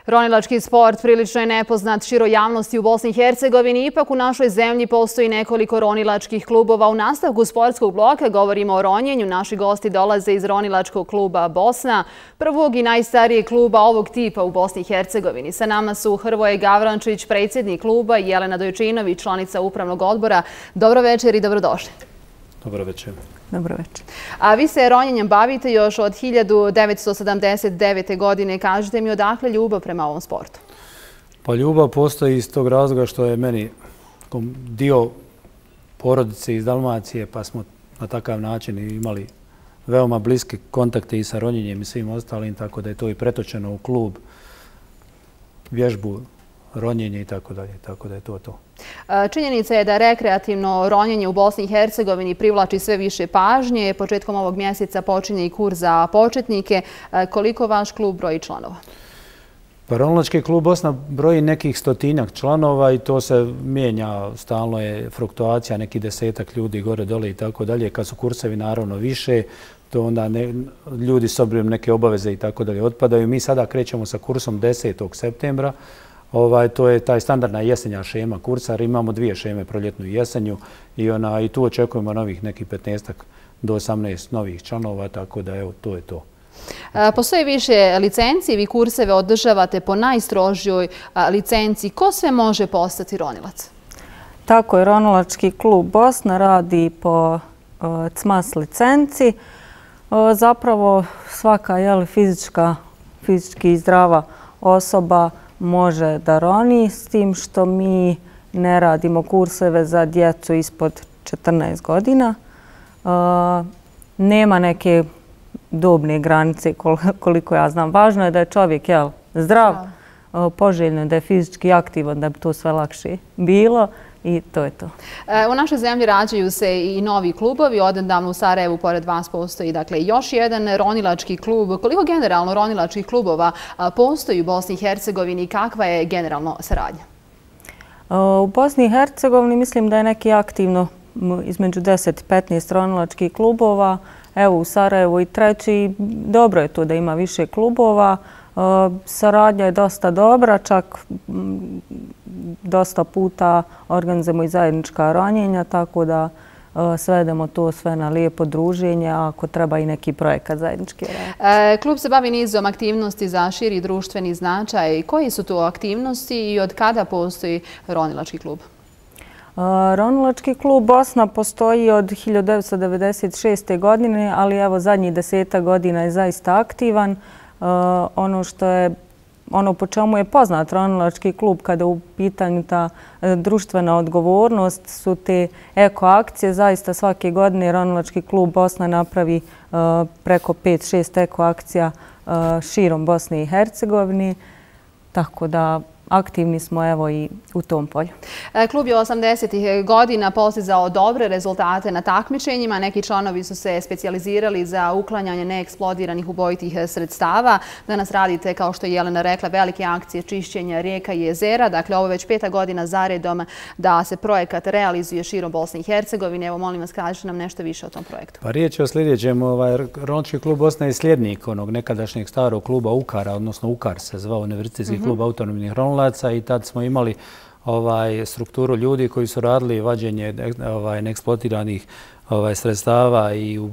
Ronilački sport prilično je nepoznat široj javnosti u Bosni i Hercegovini. Ipak u našoj zemlji postoji nekoliko ronilačkih klubova. U nastavku sportskog bloka govorimo o ronjenju. Naši gosti dolaze iz Ronilačkog kluba Bosna, prvog i najstarijeg kluba ovog tipa u Bosni i Hercegovini. Sa nama su Hrvoje Gavrančić, predsjednik kluba, i Jelena Dojčinović, članica upravnog odbora. Dobro večer i dobrodošli. Dobro večer. Dobro večer. A vi se ronjenjem bavite još od 1979. godine. Kažite mi, odakle ljubav prema ovom sportu? Pa ljubav postoji iz tog razloga što je meni dio porodice iz Dalmacije, pa smo na takav način imali veoma bliske kontakte i sa ronjenjem i svim ostalim, tako da je to i pretočeno u klub, vježbu, ronjenje i tako dalje, tako da je to to. Činjenica je da rekreativno ronjenje u Bosni i Hercegovini privlači sve više pažnje. Početkom ovog mjeseca počinje i kurs za početnike. Koliko vaš klub broji članova? Pa Ronilački klub Bosna broji nekih 100-tinjak članova i to se mijenja, stalno je fluktuacija, neki 10-ak ljudi gore dole i tako dalje. Kad su kursevi naravno više, to onda ljudi s obzirom neke obaveze i tako dalje otpadaju. Mi sada krećemo sa kursom 10. septembra. To je taj standardna jesenja šema kursa, jer imamo dvije šeme, proljetnu i jesenju, i tu očekujemo novih nekih 15 do 18 novih članova, tako da evo, to je to. Postoji više licenci, vi kurseve održavate po najstrožijoj licenci. Ko sve može postati ronilac? Tako je, Ronilački klub Bosna radi po CMAS licenci. Zapravo svaka fizički zdrava osoba može da roni, s tim što mi ne radimo kurseve za djecu ispod 14 godina. Nema neke dobne granice koliko ja znam. Važno je da je čovjek zdrav, poželjno je da je fizički aktivan, da bi to sve lakše bilo. I to je to. U našoj zemlji rađaju se i novi klubovi. Odnedavno u Sarajevu pored vas postoji još jedan ronilački klub. Koliko generalno ronilačkih klubova postoji u Bosni i Hercegovini i kakva je generalno saradnja? U Bosni i Hercegovini mislim da je neki aktivno između 10 i 15 ronilačkih klubova. Evo u Sarajevu i treći. Dobro je to da ima više klubova. Saradnja je dosta dobra, čak dosta puta organizujemo i zajednička ronjenja, tako da svedemo to sve na lijepo druženje, a ako treba i neki projekat zajednički. Klub se bavi nizom aktivnosti za širi društveni značaj. Koji su to aktivnosti i od kada postoji Ronilački klub? Ronilački klub Bosna postoji od 1996. godine, ali evo zadnjih 10 godina je zaista aktivan. Ono po čemu je poznat Ronilački klub kada je u pitanju ta društvena odgovornost su te eko akcije. Zaista svake godine Ronilački klub Bosna napravi preko 5-6 eko akcija širom Bosne i Hercegovine, tako da aktivni smo evo i u tom polju. Klub je 80. godina postizao dobre rezultate na takmičenjima. Neki članovi su se specijalizirali za uklanjanje neeksplodiranih ubojitih sredstava. Danas radite, kao što je Jelena rekla, velike akcije čišćenja rijeka i jezera. Dakle, ovo je već 5. godina zaredom da se projekat realizuje širom Bosne i Hercegovine. Evo, molim vas, kažite nam nešto više o tom projektu. Pa riječ je o sljedećem. Ronilački klub Bosna je slijednik onog nekadašnjeg starog kluba UKAR-a, odnosno UKAR se zvao, Univerzitetski klub autonomnih ronilaca, i tad smo imali strukturu ljudi koji su radili vađenje neeksplodiranih sredstava i u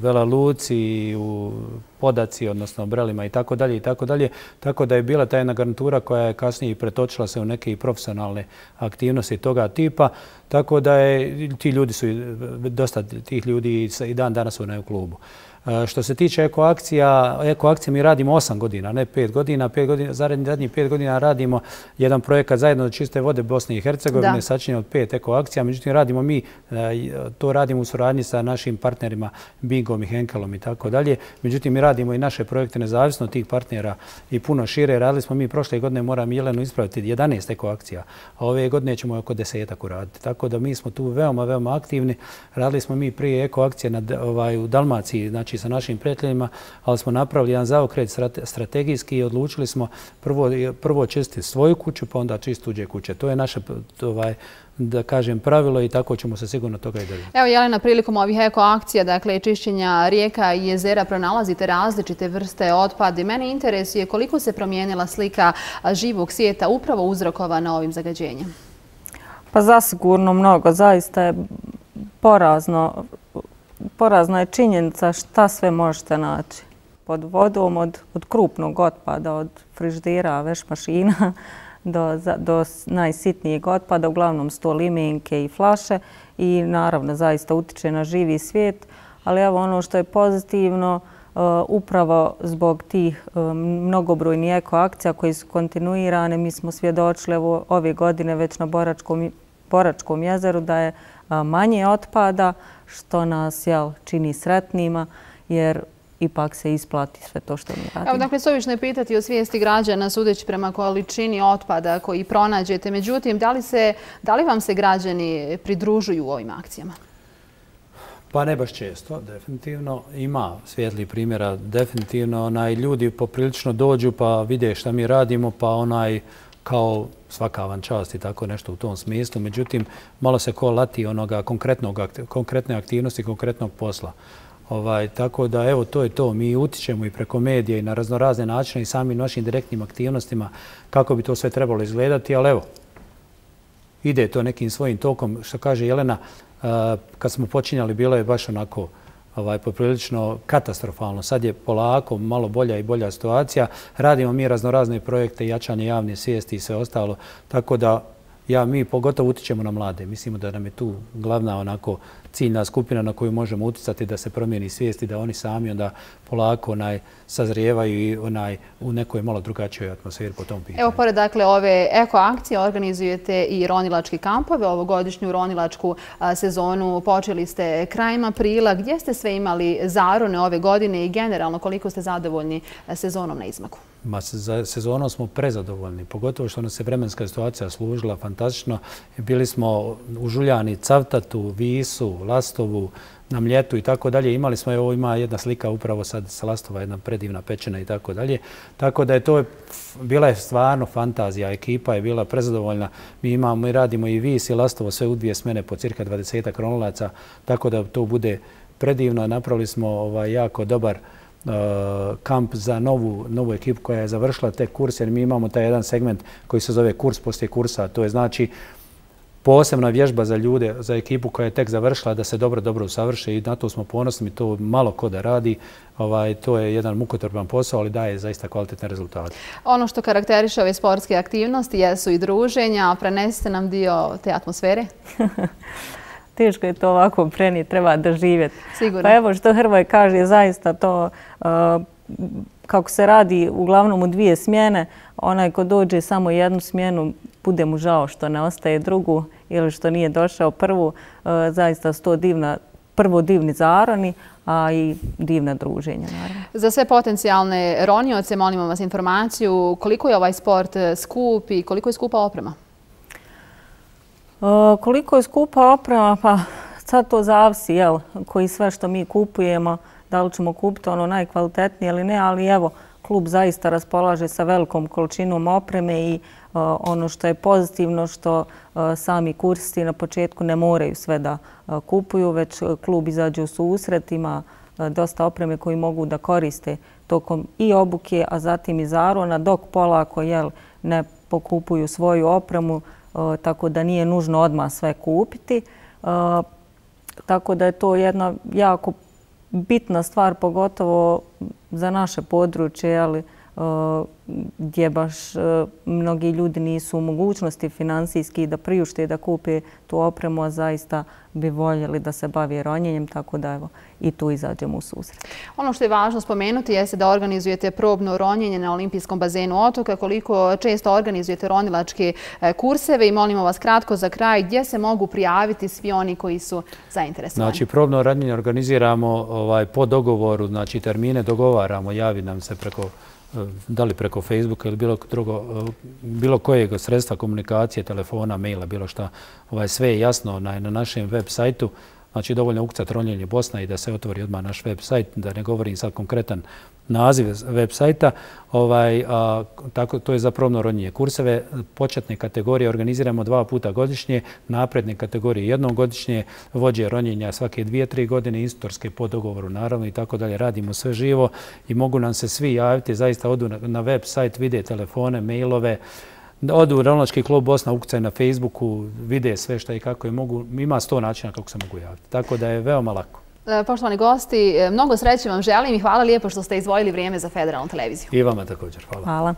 Vela Luci i u Podaci, odnosno Brelima i tako dalje i tako dalje. Tako da je bila ta jedna garnitura koja je kasnije pretočila se u neke i profesionalne aktivnosti toga tipa. Tako da ti ljudi su, dosta tih ljudi i dan danas su u klubu. Što se tiče eko akcije mi radimo 8 godina, ne 5 godina. Zadnjih 5 godina radimo jedan projekat zajedno za čiste vode Bosne i Hercegovine, sačinjen od 5 eko akcija. Međutim, to radimo u suradnji sa našim partnerima Bingom i Henkelom i tako dalje. Međutim, mi radimo i naše projekte nezavisno od tih partnera i puno šire. Radili smo mi prošle godine, moram Jelenu ispraviti, 11 eko akcija, a ove godine ćemo oko 10 uraditi. Tako da mi smo tu veoma, veoma aktivni. Radili smo mi prije eko akcije u Dalmaciji, znači znači sa našim prijateljima, ali smo napravili jedan zaokret strategijski i odlučili smo prvo čistiti svoju kuću, pa onda čistiti tuđe kuće. To je naše, da kažem, pravilo i tako ćemo se sigurno toga i držati. Evo, Jelena, prilikom ovih ekoakcija, dakle, čišćenja rijeka i jezera, pronalazite različite vrste otpada. Mene interesuje koliko se promijenila slika živog svijeta upravo uzrokovana ovim zagađenjem. Pa zasigurno mnogo. Zaista je porazna je činjenica šta sve možete naći pod vodom, od krupnog otpada, od frižidera, veš mašina, do najsitnijeg otpada, uglavnom su to limenke i flaše i naravno zaista utiče na živi svijet. Ali evo ono što je pozitivno, upravo zbog tih mnogobrojnih ekoakcija koji su kontinuirane, mi smo svjedočili ove godine već na Boračkom jezeru da je manje otpada, što nas čini sretnima, jer ipak se isplati sve to što mi radimo. Evo, dakle, suvišno je pitati o svijesti građana sudeći prema količini otpada koji pronađete. Međutim, da li vam se građani pridružuju u ovim akcijama? Pa ne baš često, definitivno. Ima svijetlih primjera, definitivno. Ljudi poprilično dođu pa vide šta mi radimo, pa kao svaka vam čast i tako nešto u tom smislu. Međutim, malo se ko lati onoga konkretne aktivnosti, konkretnog posla. Tako da, evo, to je to. Mi utičemo i preko medija i na raznorazne načine i samim našim direktnim aktivnostima kako bi to sve trebalo izgledati, ali evo, ide to nekim svojim tokom. Što kaže Jelena, kad smo počinjali bilo je baš onako poprilično katastrofalno. Sad je polako malo bolja i bolja situacija. Radimo mi raznorazne projekte, jačanje javne svijesti i sve ostalo. Tako da mi pogotovo utičemo na mlade. Mislimo da nam je tu glavna ciljna skupina na koju možemo uticati da se promijeni svijest i da oni sami onda polako sazrijevaju i u nekoj malo drugačijoj atmosferi po tom pitanju. Evo, pored dakle ove ekoakcije organizujete i ronilački kampove. Ovogodišnju ronilačku sezonu počeli ste krajem aprila. Gdje ste sve imali zarone ove godine i generalno koliko ste zadovoljni sezonom na izmaku? Za sezonom smo prezadovoljni, pogotovo što nas je vremenska situacija služila fantastično. Bili smo u Žuljani, Cavtatu, Visu, Lastovu, na Mljetu i tako dalje. Imali smo, evo ima jedna slika upravo sad sa Lastova, jedna predivna pečena i tako dalje. Tako da bila je stvarno fantazija, ekipa je bila prezadovoljna. Mi radimo i Vis i Lastovo sve u 2 smjene po cirka 20 ronilaca, tako da to bude predivno. Napravili smo jako dobar kamp za novu ekipu koja je završila tek kurs, jer mi imamo taj jedan segment koji se zove kurs poslije kursa. To je znači posebna vježba za ljude, za ekipu koja je tek završila da se dobro usavrše i na to smo ponosni. To malo ko da radi. To je jedan mukotrpan posao, ali daje zaista kvalitetne rezultate. Ono što karakteriše ove sportske aktivnosti jesu i druženja. Prenesite nam dio te atmosfere. Teško je to ovako prenijeti, treba doživjeti. Sigurno. Pa evo što Hrvoje kaže, zaista to kako se radi uglavnom u 2 smjene, onaj ko dođe samo jednu smjenu, bude mu žao što ne ostaje drugu ili što nije došao prvu. Zaista su to prvo divni zaroni, a i divna druženja, naravno. Za sve potencijalne ronioce molimo vas informaciju koliko je ovaj sport skup i koliko je skupa oprema? Koliko je skupa oprema, pa sad to zavisi, koji sve što mi kupujemo, da li ćemo kupiti ono najkvalitetnije ili ne, ali evo, klub zaista raspolaže sa velikom količinom opreme i ono što je pozitivno što sami kursisti na početku ne moraju sve da kupuju, već klub izađe u susret, ima dosta opreme koju mogu da koriste tokom i obuke, a zatim i zarona, dok polako ne pokupuju svoju opremu, tako da nije nužno odmah sve kupiti. Tako da je to jedna jako bitna stvar, pogotovo za naše područje, gdje baš mnogi ljudi nisu u mogućnosti finansijski da priušte da kupe tu opremu, a zaista bi voljeli da se bavi ronjenjem, tako da evo i tu izađemo u susret. Ono što je važno spomenuti jeste da organizujete probno ronjenje na olimpijskom bazenu Otoka. Koliko često organizujete ronilačke kurseve i molimo vas kratko za kraj gdje se mogu prijaviti svi oni koji su zainteresovani? Znači, probno ronjenje organiziramo po dogovoru, znači termine dogovaramo, javi nam se da li preko Facebooka ili bilo kojeg sredstva komunikacije, telefona, maila, bilo šta. Sve je jasno na našem web sajtu. Znači, dovoljno ukucati Ronjenje Bosna i da se otvori odmah naš web sajt, da ne govorim sad konkretan naziv web sajta. To je za probno ronjenje. Kurseve početne kategorije organiziramo 2 puta godišnje, napredne kategorije jednom godišnje, vođe ronjenja svake 2-3 godine, instruktorske po dogovoru naravno i tako dalje. Radimo sve živo i mogu nam se svi javiti, zaista odu na web sajt, vide telefone, mailove, odu u Ronilački klub Bosna, ukucaju na Facebooku, vide sve šta i kako je mogu. Ima 100 načina kako se mogu javiti. Tako da je veoma lako. Poštovani gosti, mnogo sreće vam želim i hvala lijepo što ste izdvojili vrijeme za Federalnu televiziju. I vama također. Hvala. Hvala.